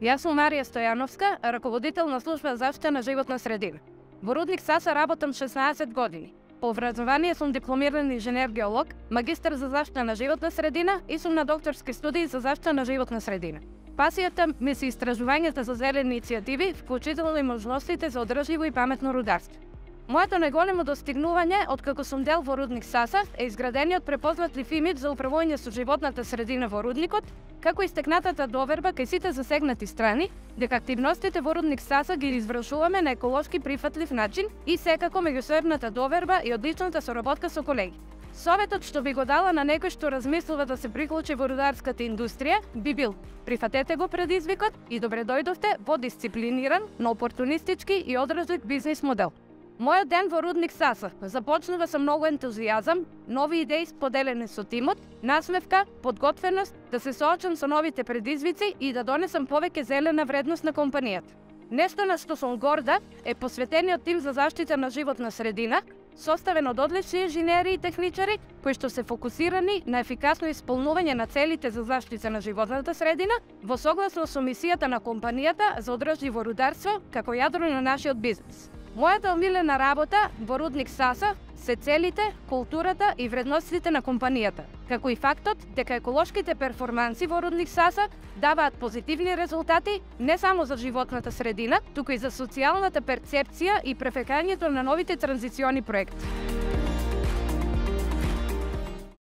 Јас сум Марија Стојановска, раководител на служба за заштита на животна средина. Во рудник Саса работам 16 години. По образование сум дипломиран инженер-геолог, магистар за заштита на животна средина и сум на докторски студии за заштита на животна средина. Пасијата ми се истражувањата за зелени иницијативи, вклучително и можностите за одржливо и паметно рударство. Моето најголемо достигнување, откако сум дел во рудник Саса, е изградениот препознатлив имидж за управување со животната средина во рудникот, како истекнатата доверба кај сите засегнати страни, дека активностите во рудник Саса ги извршуваме на еколошки прифатлив начин и секако меѓусебната доверба и одличната соработка со колеги. Советот што би го дала на некој што размислува да се приклучи во рударската индустрија би бил: прифатете го предизвикот и добре дојдовте во дисциплиниран, но опортунистички и одржлив бизнис модел. Мојот ден во рудник Саса започнува со многу ентузијазам, нови идеи споделени со тимот, насмевка, подготвеност да се соочам со новите предизвици и да донесам повеќе зелена вредност на компанијата. Нешто на што сум горда е посветениот тим за заштита на животна средина, составен од одлични инженери и техничари кои што се фокусирани на ефикасно исполнување на целите за заштита на животната средина во согласно со мисијата на компанијата за одржливо рударство како јадро на нашиот бизнис. Мојата омилена работа во рудник Саса се целите, културата и вредностите на компанијата, како и фактот дека еколошките перформанси во рудник Саса даваат позитивни резултати не само за животната средина, туку и за социјалната перцепција и префекањето на новите транзициони проекти.